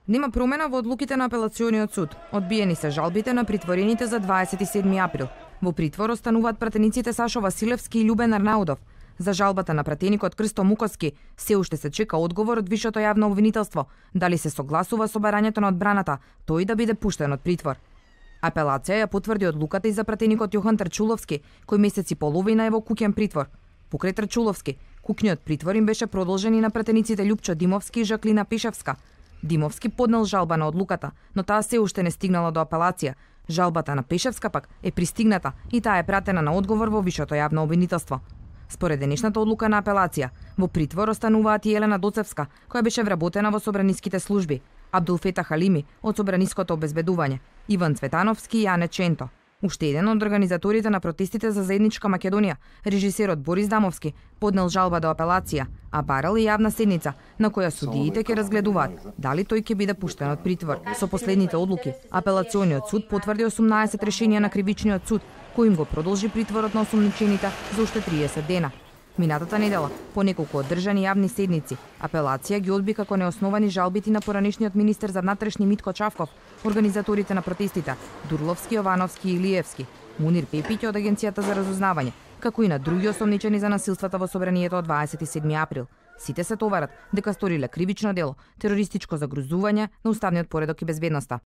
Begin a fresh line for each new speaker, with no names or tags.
Нема промена во одлуките на апелациониот суд. Одбиени се жалбите на притворените за 27 април. Во притвор остануваат пратениците Сашо Василевски и Љубен Арнаудов. За жалбата на пратеникот Крсто Муковски се уште се чека одговор од Висшето јавно обвинителство, дали се согласува со барањето на одбраната тој да биде пуштен од притвор. Апелација ја потврди одлуката и за пратеникот Јохан Трчуловски, кој месеци половина е во куќен притвор. Покрај Трчуловски, куќниот притвор им беше продолжен и на пратениците Љупчо Димовски и Жаклина Пишевска. Димовски поднел жалба на одлуката, но таа се уште не стигнала до апелација. Жалбата на Пишевска пак е пристигната и таа е пратена на одговор во Висшето јавно обвинителство. Според денешната одлука на апелација, во притвор остануваат и Елена Доцевска, која беше вработена во собраниските служби, Абдулфета Халими од собраниското обезбедување, Иван Цветановски и Ане Ченто. Уште еден од организаторите на протестите за заедничка Македонија, режисерот Борис Дамовски, поднел жалба до апелација, а барал и јавна седница на која судиите ќе разгледуваат дали тој ќе биде пуштен од притвор. Со последните одлуки, апелациониот суд потврди 18 решенија на кривичниот суд, кој им го продолжи притворот на осумничените за уште 30 дена. Минатата недела, по неколку одржани јавни седници, апелација ги одби како неосновани жалбите на поранешниот министер за внатрешни Митко Чавков, организаторите на протестите Дурловски, Јовановски и Илиевски, Мунир Пепиќ од Агенцијата за разузнавање, како и на други осомничени за насилствата во собранието од 27 април. Сите се товарат дека сториле кривично дело, терористичко загрузување на уставниот поредок и безбедноста.